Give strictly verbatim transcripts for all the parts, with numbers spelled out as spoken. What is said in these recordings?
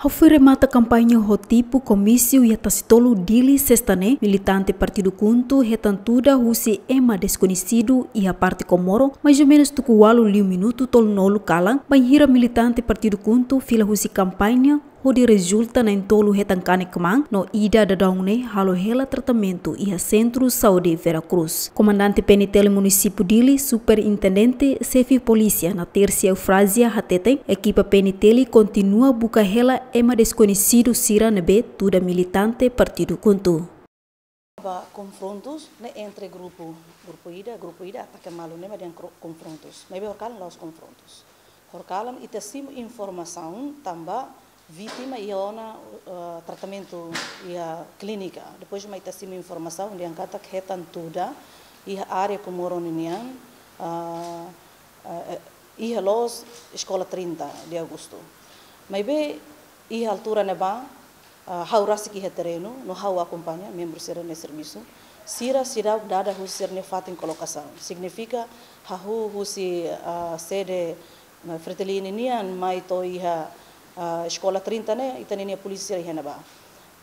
Foin remata kampaña ho tipu komísiu iha Tasitolu, Dili, sesta ne'e, militante partidu KHUNTO hetan tuda husi ema deskoñesidu iha parte Komoro, mais ou menus tuku ualu liu minutu tolunulu kalan, bainhira militante partidu KHUNTO fila husi kampaña, hodi rezulta na'in-tolu hetan kanek-kmaan, no ida daudaun ne'e halo hela tratamentu iha Sentru Saúde Vera Cruz. Komandante PNTL Munisípiu Dili, Superintendente Xefe Polísia Natercia Eufrazia hateten, ekipa PNTL kontinua buka hela ema deskoñesidu sira ne'ebé tuda militante partidu KHUNTO. Ba konfrontus ne'e entre grupu, grupu ida, grupu ida ataka malu ne'e mak dehan kro-, konfrontus. Maibé horikalan la'ós konfrontus. Horikalan ita simu informasaun tanba vítima iha ona, eh, tratamentu iha klínika. Depois mak ita simu informasaun dehan katak hetan tuda iha área Komoro ninian, eh, eh, eh, iha loos Eskola trinta de Agosto. Maibé iha altura ne'ebá, ah, ha'u rasik iha terrenu, no ha'u akompaña membru sira-nia servisu. Sira seidauk dada husi sira-nia fatin kolokasaun. Signifika hahú husi, ah, sede, ah, Fretilin nian mai to'o iha, ah, Eskola trinta ne'e, ita-nia polísia iha ne'ebá.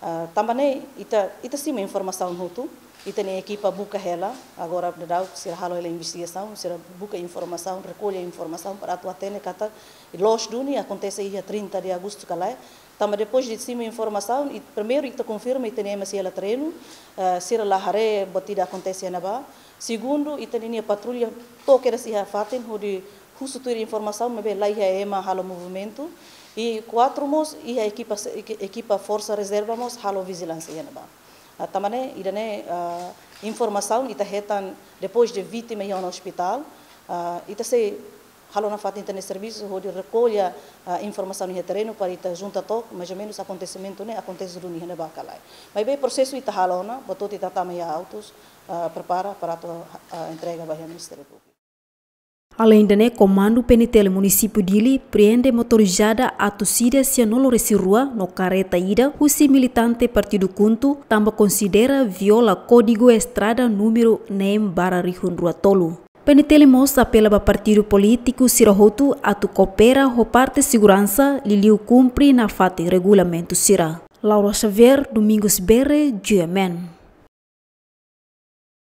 Ah, tanba ne'e, ita, ita simu informasaun hotu, ita-nia ekipa buka hela, agora daudaun sira halo hela investigasaun, sira buka informasaun, rekolla informasaun para atu hatene katak loos duni akontese iha trinta de Agosto ka lae. Tanba depois de simu informasaun, i primeiru ita konfirma ita-nia ema sira iha terrenu, eh, sira la haree buat ida akontese iha ne'ebá. Segundu, ita-nia patrulla to'o kedas iha fatin hodi husu tuir informasaun, maibé la iha ema halo movimentu. I kuatru mós, iha ekipa se-, eki-, ekipa forsa rezerva mós halo vijilánsia iha ne'ebá. Ah, tanba ne'e, ida-ne'e, ah, informasaun ita hetan depois de vítima iha ona ospitál, ah, ita sei halo nafatin ita-nia servisu hodi rekolla, ah, informasaun iha terrenu para ita junta took, mais ou menus akontesimentu ne'e akontese duni iha ne'ebá ka lae. Maibé prosesu ita halo ona, buat hotu ita tama iha autus, ah, prepara para atu, ah, entrega ba iha Ministériu Públiku. Alende ne'e, Komandu PNTL Munisípiu Dili prende motorizada atus ida sianulu-resin-rua no kareta ida husi militante partidu KHUNTO tanba konsidera viola Kódigu Estrada númeru neen barra rihun rua tolu. PNTL mós apela ba partidu polítiku sira hotu atu koopera ho parte seguransa, liuliu kumpre nafatin regulamentu sira. Laura Xavier, Domingos Bere, G M N.